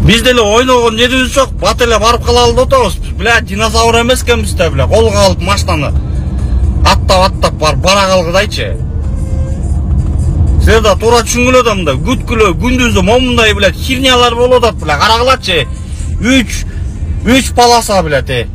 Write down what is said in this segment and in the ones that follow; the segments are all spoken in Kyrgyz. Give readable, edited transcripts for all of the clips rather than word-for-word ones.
Биз деле ойногон жерибиз жок, бат эле барып калалы деп атабыз. Блядь, динозавр эмес экенбиз да, блядь, колго алып машинаны аттап бара калгыдайчы. Силер да туура түшүнгүлө да мындай күткүлө күндүздө момундай, блядь, хернялар болуп атат, блядь, карагылачы. 3 полоса, блядь.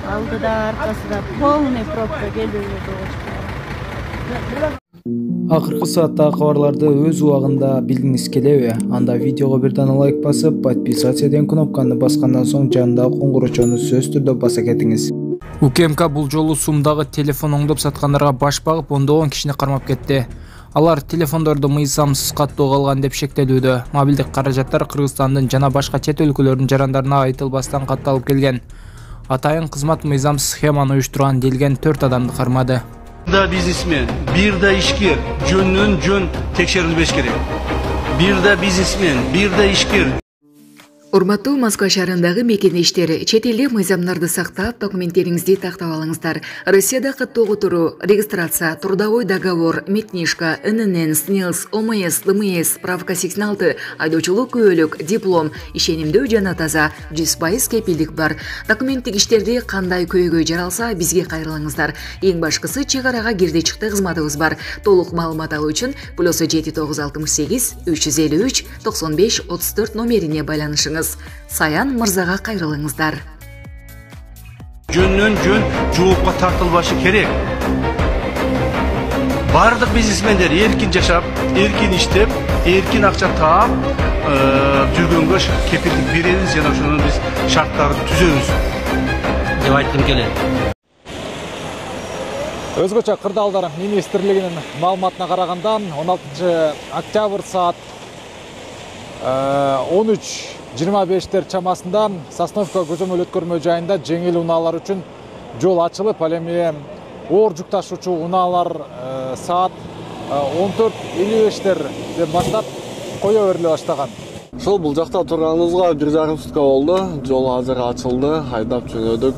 Алдыда аркасында полный пробка келип Акыркы сааттагы кабарларды өз убагында билгиңиз келеби? Анда видеого бир дана лайк басып, подписаться деген кнопканы баскандан соң жанындагы коңгурочону сөзсүз түрдө баса кетиңиз. УКМК бул жолу Сумдагы телефон оңдоп саткандарга баш багып, ондогон кишини кармап кетти. Алар телефондорду мыйзамсыз каттоого алган деп шектелүүдө. Мобилдик каражаттар Кыргызстандын жана башка чет өлкөлөрдүн жарандарына айтылбастан катталып келген. Атайын кызмат мыйзамсыз схеманы уюштурган делген 4 адамды кармады. Да бизнесмен, бир да ишкер, жөнүнөн жөн текшерилбеш керек. Бир да бизнесмен, бир да ишкер. Урматтуу Москва шаарындагы мекенештер, чет элде мыйзамдарды сактап, документтериңизди тактап алыңыздар. Россияда каттоого туруу, регистрация, трудовой договор, метнишка, ННН, СНИЛС, ОМС, ЛМС, справка 86, айдоочулук күбөлүк, диплом, ишенимдүү жана таза, 100% кепилдик бар. Документтик иштерди кандай көйгөй жаралса, бизге кайрылыңыздар. Эң башкысы чек арага кирди чыкты кызматыбыз бар. Толук маалымат алуу үчүн +7968 353 95 34 номерине байланышыңыз. Саян мырзага кайрылыңыздар. Жөнүнөн жөн жоопко тартылбашы керек. Бардык бизнесмендер эркин жашап, эркин иштеп, эркин акча таап жүргөнгө кепилдик беребиз жана ошону биз шарттарды түзөбүз деп айткым келет. Өзгөчө Кырдаалдар министрлигинин маалыматына караганда 16 октябрь саат 13:25 чамасында Сосновка көзөмөл өткөрмө жайында жеңил унаалар үчүн жол ачылып, ал эми оор жүк ташуучу унаалар саат 14:55 баштап кое бериле баштаган. Ошол бул жакта турганыбызга 1,5 сутка болду. Жол азыр ачылды, айдап жөнөдүк.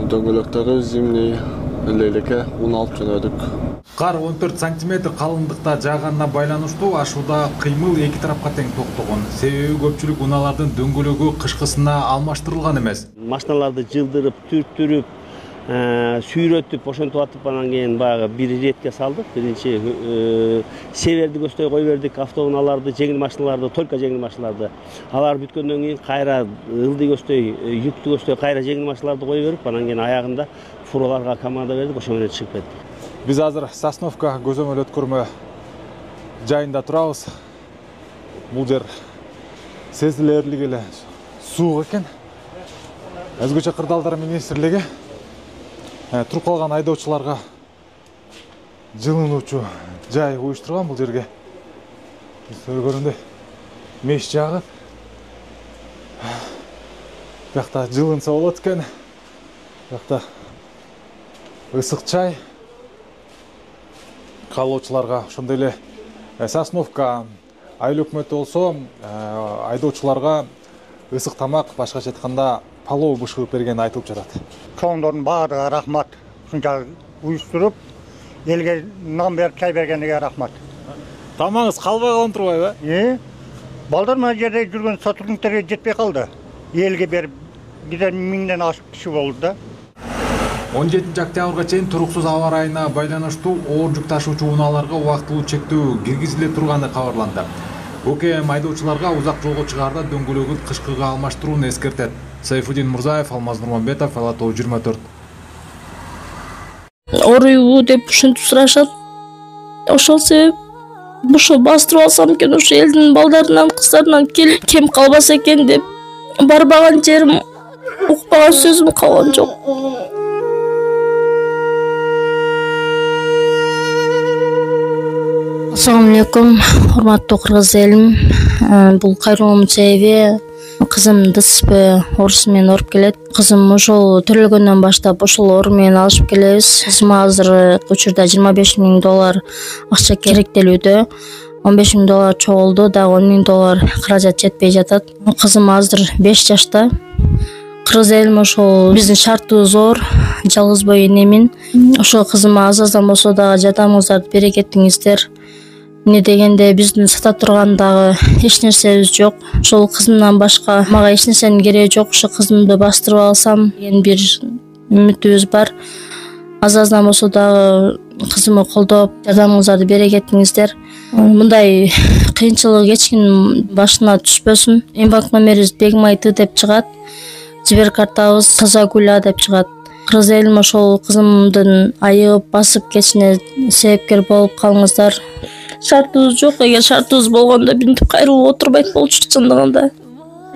Дөңгөлөктөрү зимний элекке ун алып жөнөдүк. Кар 14 сантиметр калыңдыкта жааганына байланыштуу ашууда кыймыл эки тарапка тең токтогон. Себеби көпчүлүк унаалардын дөңгөлөгү кышкысына алмаштырылган эмес. Машиналарды жылдырып, түрттүрүп, сүйрөтүп, ошентип атып анан кийин баягы бир иретке салдык. Биринчи северди көздөй кой бердик, автоунааларды, жеңил машиналарды, только жеңил машиналарды. Алар бүткөндөн кийин кайра ылдый көздөй, жүктүү көздөй кайра жеңил машиналарды кой берип, анан кийин аягында фураларга команда бердик, ошо менен чыгып кеттик. Биз азыр Сосновка көзөмөл өткөрмө жайында турабыз. Бул жер сезилерлик эле суук экен. Өзгөчө Кырдаалдар министрлиги туруп калган айдоочуларга жылынуучу жай уюштурган бул жерге. Көргөндөй меш жагып, бuyakta жылынса болот экен. Бuyakta ысык чай калоочуларга, ошондой эле Сосновка айыл өкмөтү болсо айдоочуларга ысык тамак, башкача айтканда палоо бышырып берген айтылып жатат. Чоңдордун баардыгына рахмат. Ушунча уюштуруп, элге нам берип чай бергениге рахмат. Тамагыңыз калбай калган турбайбы? Балдар мына жерде жүргөн сотрудниктерге жетпей калды. Элге берип, бир миңден ашык киши болду да. 17 октябрга чейин туруксуз аба ырайына байланыштуу оор жүк ташуучу унааларга убактылуу чектөө киргизиле турганы кабарланды. УКМ айдоочуларга узак жолго чыгаарда дөңгөлөгүн кышкыга алмаштырууну эскертет. Сайфудин Мурзаев, Алмаз Нурманбетов, Алатоо 24. Оруйбу деп ушинтип сурашат. Ошол себеп ошо бастырып алсам экен, ошо элдин балдарынан, кыздарынан кем калбаса экен деп барбаган жерим, укпаган сөзүм калган жок. Assalamu alaikum, урматтуу кыргыз элим. Бул кайрылуумдун себеби кызым ДСП орусу менен оруп келет. Кызым ошол төрөлгөндөн баштап ошол ору менен алышып келебиз. Кызыма азыр учурда $25,000 акча керектелүүдө. 15 000 доллар чогулду, дагы 10 000 доллар каражат жетпей жатат. Кызым азыр 5 жашта. Кыргыз элим ошол биздин шартыбыз зор, жалгыз бой энемин. Ошол кызыма аздан болсо дагы жардамыңыздарды бере кеттиңиздер. Эмне дегенде биздин сата турган дагы эч нерсебиз жок. Ошол кызымдан башка мага эч нерсенин кереги жок. Ошо кызымды бастырып алсам деген бир үмүтүбүз бар. Аздан болсо дагы кызымды колдоп, жардамыңыздарды бере кеттиңиздер. Мындай кыйынчылык эч кимдин башына түшпөсүн. Эмбанк номерибиз Бегмайты деп чыгат. Жибер картабыз Таза Гүла деп чыгат. Кыргыз элим ошол кызымдын айыгып басып кетишине себепкер болуп калыңыздар. Шартыбыз жок, эгер шартыбыз болгондо бинтип кайрылып отурбайт болчу чындыгында.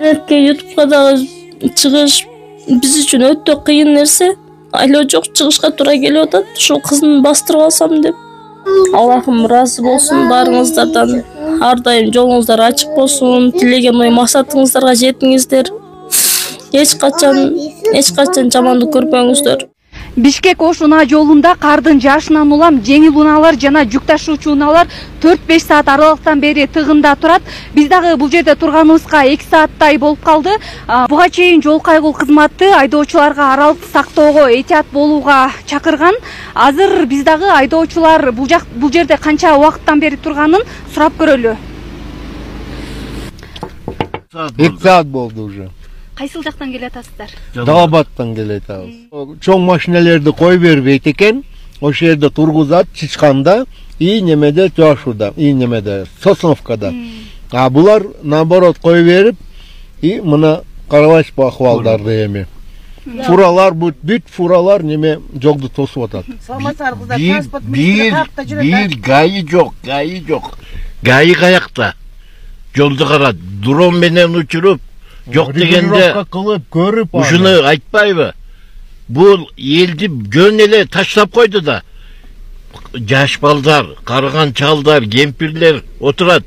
YouTube'га дагы чыгыш биз үчүн өтө кыйын нерсе. Айлоо жок, чыгышка туура келип атат. Ушул кызымды бастырып алсам деп. Аллахым ыраазы болсун баарыңыздардан. Ар дайым жолуңуздар ачык болсун. Тилеген ой максатыңыздарга жетиңиздер. Эч качан жамандык көрбөңүздөр. Бишкек Ош унаа жолунда кардын жаашынан улам жеңил унаалар жана жүк ташуучу унаалар 4-5 саат аралыктан бери тыгында турат. Биз дагы бул жерде турганыбызга 2 сааттай болуп калды. Буга чейин жол кайгыл кызматы айдоочуларга аралыкты сактоого, этият болууга чакырган. Азыр биз дагы айдоочулар бул жерде канча убакыттан бери турганын сурап көрөлү. 2 саат болду уже. Кайсыл жактан келатасыздар? Далабаттан келатабыз. Чоң машиналерди кой бербейт экен. Ошол жерде тургузат чычканда и немеде жашууда, и немеде Сосновкада. А булар наоборот кой берип и мына карабайсыз бу акыбалдарды эми. Фуралар бүт фуралар неме жолду тосуп атат. Бир гаи жок. Гаи каякта? Жолду карат, дрон менен учуруп жок дегенде ушуну айтпайбы? Бул элди жөн эле таштап койду да. Жаш балдар, карыган чалдар, кемпирлер отурат.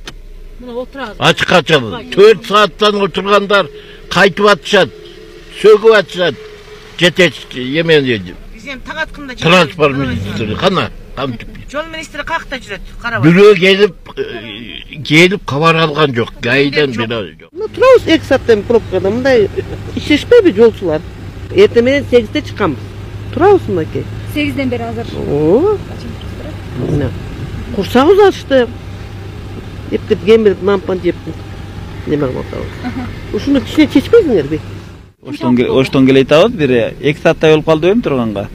Ачык ачык 4 сааттан отургандар кайтып атышат, сөгүп атышат. Жетекчи эмени транспорт министри кана жол министри какта жүрөт, карабай. Бирөө келип кабар алган жок, гайдан бирөө жок. Турабыз 2 сааттан пробкада, мындай ишешпейби жолчулар. Эртең менен 8-те чыкканбыз. Турабыз мынакей. 8-ден бери азыр. Курсагыбыз ачты. Эптеп кемирип лампаны жеп неме кылып атабыз. Ушуну кичине чечпейсиңерби? Оштон келетабыз, бир 2 сааттай болуп калды эми турганга.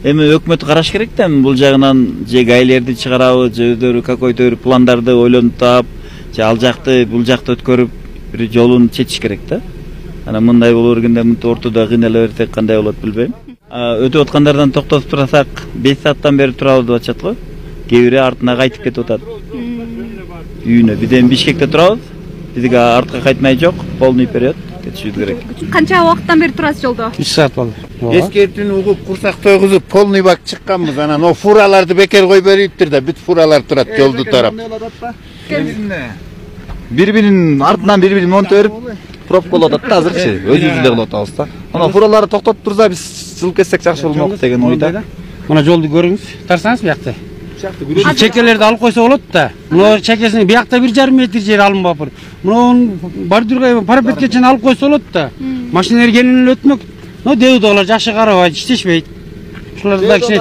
Эми өкмөт караш керек да, бул жагынан же гайлерди чыгарабы, же өздөрү какой-то бир пландарды ойлонуп таап, же ал жакты, бул жакты өткөрүп бир жолун чечиш керек да. Анан мындай боло бергенде мынтип ортодо кыйнала берсек кандай болот билбейм. Өтүп аткандардан токтотуп турсак 5 сааттан бери турабыз деп атышат го. Кээ бири артына кайтып кетип атат. Үйүнө биден Бишкекте турабыз. Бизге артка кайтмай жок, полный период кетишибиз керек. Канча убакыттан бери турасыз жолдо? 3 саат болду. Эскертүүнү угуп курсак тойгузуп полный бак чыкканбыз. Анан о фураларды бекер кой бериптир да, бүт фуралар турат жолду тарап. Бири-биринин артынан бири-бирин монто берип пробка болуп атат да азырчы. Өзүбүз эле кылып атабыз да. Анан фураларды токтотуп турса биз жылып кетсек жакшы болмок деген ойда. Мына жолду көрүңүз. Тарсаңыз биякта. Чекелерди алып койсо болот да. Мына чекесин биякта 1,5 метр жер алынбапыр. Мына бордюрга парапетке чейин алып койсо болот да. Машиналар кенен эле өтмөк. Но деудалар жакшы карабайт, иштешпейт. Ушуларды да кичине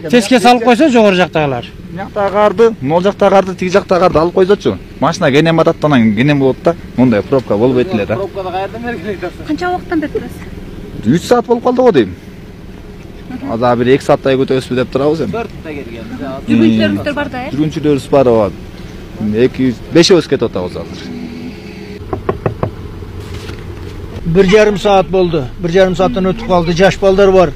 тескес алып койсо жогору жактагылар. Жактагы карды, могул жактагы карды, тиги жактагы карды алып койсочу. Машина кенен батат, анан кенен болот да. Мындай пробка болбойт эле да. Пробкада каерден бери келесиз? Канча убакыттан бери турасыз? 3 саат болуп калды го дейм. Азыр бир 2 сааттай көтөбүзбү деп турабыз эми. 4-та келген. Жүргүнчүлөрүңүздөр бар да, э? Жүргүнчүлөрүбүз бар, ооба. 2-5 кетип атабыз азыр. 1,5 саат болду. 1,5 сааттан өтүп калды. Жаш балдар бар.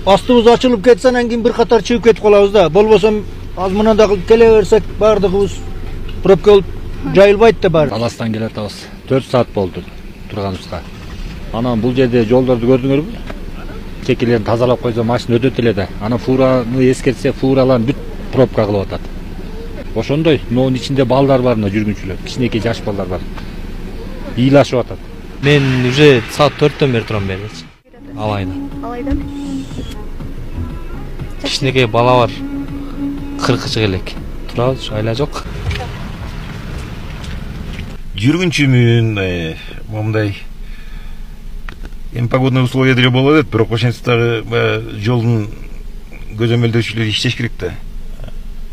Астыбыз ачылып кетсе, анан кийин бир катар чыгып кетип калабыз да. Болбосо аз мына да келе берсек, бардыгыбыз пробка болуп жайылбайт да баары. Аластан келе атабыз. 4 саат болду турганыбызга. Анан бул жерде жолдорду көрдүңөрбү? Чекелерин тазалап койсо машина өтөт эле да. Анан фураны эскертсе, фуралар бүт пробка кылып атат. Ошондой, мунун ичинде балдар бар, мына жүргүнчүлөр, кичинекей жаш балдар бар. Ыйлашып атат. Мен уже саат 4-төн бери турам берчи. Алайда. Алайдан? Кичинекей бала бар. 40 элек. Турабыз, айла жок. жүргүнчүмүн, момундай погодный условия деле болот эт, бирок ошентип дагы жолдун көзөмөлдөөчүлөр иштеш керек да.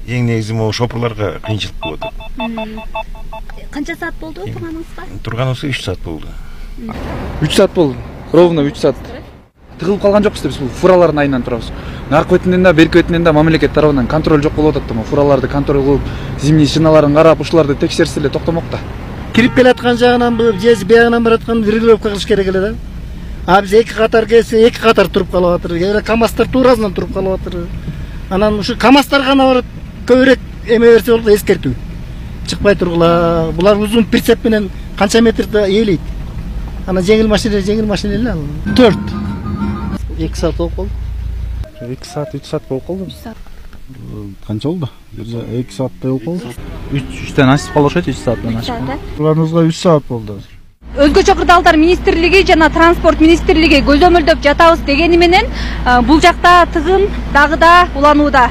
Эң негизи могу шопурларга кыйынчылык болот. Канча саат болду турганыңызга? Турганыбызга 3 саат болду. 3 саат болду. Ровно 3 саат. Тыгылып калган жокпуз да, биз бул фуралардын айынан турабыз. Наркы бетинен да, берки бетинен да мамлекет тарабынан контроль жок болуп атат да, фураларды контроль кылып, зимний шиналарын карап, ушуларды текшерсе эле токтомок да. Кирип келаткан жагынан же биягынан бараткан регулировка кылыш керек эле да. А биз 2 катар келсе 2 катар туруп калып атыр. Эле КамАЗдар туурасынан туруп калып атыр. Анан ушу КамАЗдар гана барып көбүрөөк эме берсе болот, эскертүү. Чыкпай тургула. Булар узун прицеп менен канча метрде ээлейт. Анан жеңил машина эле ал. 4. 2 саат болуп калды. 2 саат, 3 саат болуп калды. Канча болду? 2 сааттай болуп калды. 3тен ашып калышат, 3 сааттан ашып. Турганыбызга 3 саат болду. Өзгөчө кырдаалдар министрлиги жана транспорт министрлиги көзөмөлдөп жатабыз дегени менен бул жакта тыгын дагы да уланууда.